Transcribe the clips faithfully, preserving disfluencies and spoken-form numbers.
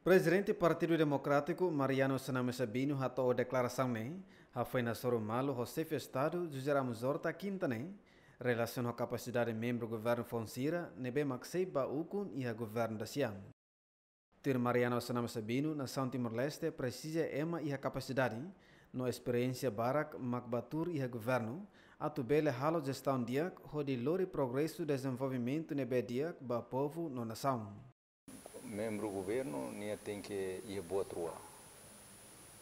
Prezidente Partidu Demokrátiku, Mariano Xanana Sabino, hato'o deklarasaun ne'e hafoin hasoru malu ho Xefe Estadu, José Ramos Horta, kinta ne'e, relasiona ho kapasidade membru governu foun sira ne'ebé mak sei bá ukun iha governu da-sia. Tuir Mariano Xanana Sabino, nasaun Timor-Leste presiza ema iha kapasidade no esperiénsia barak mak bá tuur iha governu, atu bele halo jestaun di'ak hodi lori progresu dezenvolvimentu ne'ebé di'ak ba povu no nasaun. Membru governu nia tenke iha buat rua.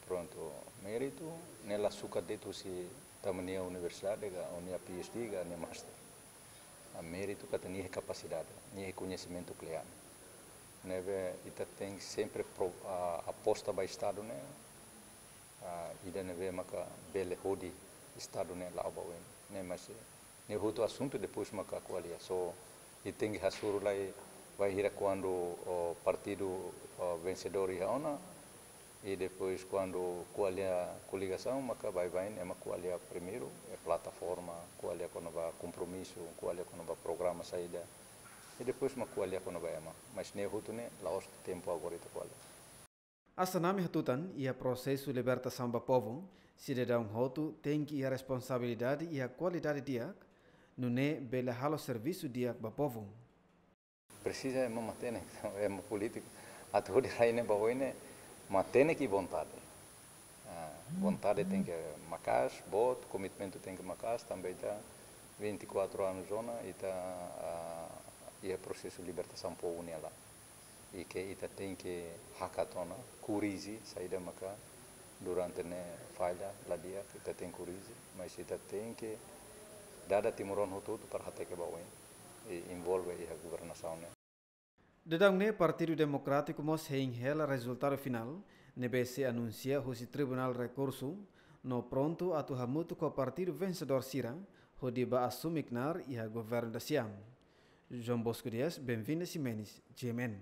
Prontu, méritu ne'e la sukat de'it husi tama nia universidade ka, ou nia P H D ka, nia master. Ah, méritu katak nia iha kapasidade, nia iha koñesimentu kle'an. Ne'ebé ita tenke sempre pro-, ah, aposta ba Estadu ne'e, ah, ida ne'ebé maka bele hodi Estadu ne'e la'o ba oin. Ne'e, mas, eh, ne'e hotu asuntu, depois maka ko'alia. So, ita tenke hasoru lai, bainhira kuandu, oh, partidu, oh, vensedór iha ona, i depois kuandu ko'alia koligasaun, maka baibain ema ko'alia primeiru, eh, plataforma, ko'alia kona-ba kompromisu, ko'alia kona-ba programa saida, i depois mak ko'alia kona-ba ema. Mas ne'e hotu ne'e, la'ós tempu agora ita ko'alia. Xanana hatutan, iha prosesu libertasaun ba povu, sidadaun hotu tenke iha responsabilidade iha kualidade di'ak, nune'e bele halo servisu di'ak ba povu. Presiza ema matenek, ema polítiku. Atu hodi rai ne'e ba oin ne'e, matenek i vontade. Ah, vontade tenke maka'as, boot, komitmentu tenke maka'as, tanba ita vinte e quatro anos ona, ita, ah, iha prosesu libertasaun povu nia laran. I ke ita tenke hakat ona, korrije, saida maka durante ne'e falla, la di'ak, ita tenke korrije, mas ita tenke dada timoroan hotu-hotu para hateke ba oin, i envolve iha governasaun ne'e. Daudaun ne'e Partidu Demokrátiku mós hein hela rezultadu finál ne'ebé sei anunsia husi Tribunál Rekursu, no prontu atu hamutuk ho partidu vensedór sira hodi bá asume knaar iha governu da-sia. João Bosco Dias, Benvinda Ximenes, G M N.